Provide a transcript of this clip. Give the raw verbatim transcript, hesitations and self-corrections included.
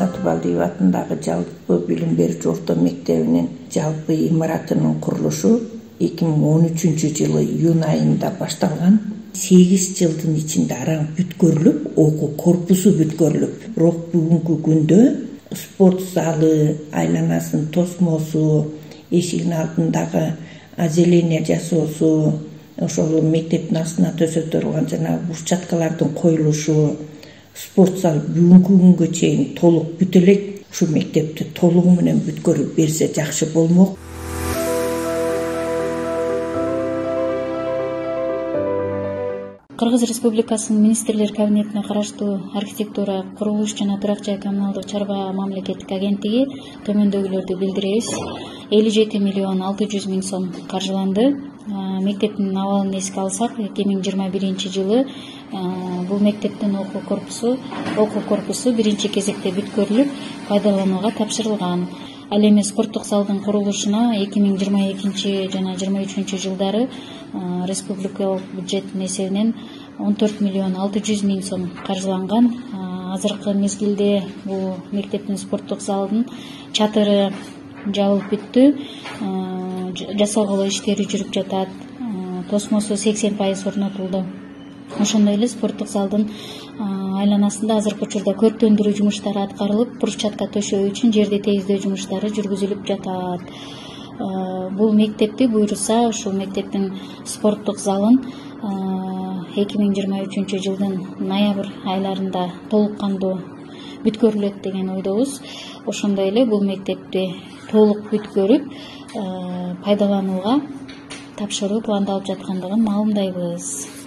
Сатыбалдиев атындагы жалпы билим берүүчү орто мектебинин жалпы имаратынын курулушу эки миң он үчүнчү жылы июнь айында башталган. сегиз жылдын ичинде араң бүткөрүлүп, окуу корпусу бүткөрүлүп, бирок бүгүнкү күндө спорт залы, айланасын тосмосу, эшигинин алдындагы озеление жасоосу, ошол мектептин астына төсөтөрүлган жана брусчаткалардын коюлушу, спорт зал бүгүнкү күнгө чейин толук бүтө элек. Ушу мектепти толугу менен бүткөрүп берсе жакшы болмок. Кыргыз Республикасынын Министрлер кабинетине караштуу архитектура, курулуш жана турак жай коммуналдык чарба мамлекеттик агенттиги төмөндөгүлөрдү билдиребиз. элүү жети миллион алты жүз миң сом каржыланды. Мектептин абалын эске алсак, эки миң жыйырма биринчи жылы бул мектептин окуу корпусу окуу корпусу биринчи кезекте бүткөрүлүп, пайдаланууга тапшырылган. Ал эми спорттук залдын курулушуна эки миң жыйырма экинчи жана жыйырма үчүнчү жылдары республикалык бюджеттин эсебинен он төрт миллион алты жүз миң сом каржыланган. Азыркы мезгилде бул мектептин спорттук залынын чатыры жабылып бүттү, жасалгылоо иштери жүрүп жатат. Тосмосу сексен пайыз орнотулду. Ошондой эле спорттук залдын айланасында азыркы учурда көрктөндүрүү жумуштары аткарылып, брусчатка төшөө үчүн жерди тегиздөө жумуштары жүргүзүлүп жатат. Бул мектепти буйруса, ушул мектептин спорттук залын эки миң жыйырма үчүнчү жылдын ноябрь айларында толук кандуу бүткөрүлөт деген ойдобуз. Ошондой эле бул мектепти толук бүткөрүп, пайдаланууга тапшыруу пландалып жаткандыгын маалымдайбыз.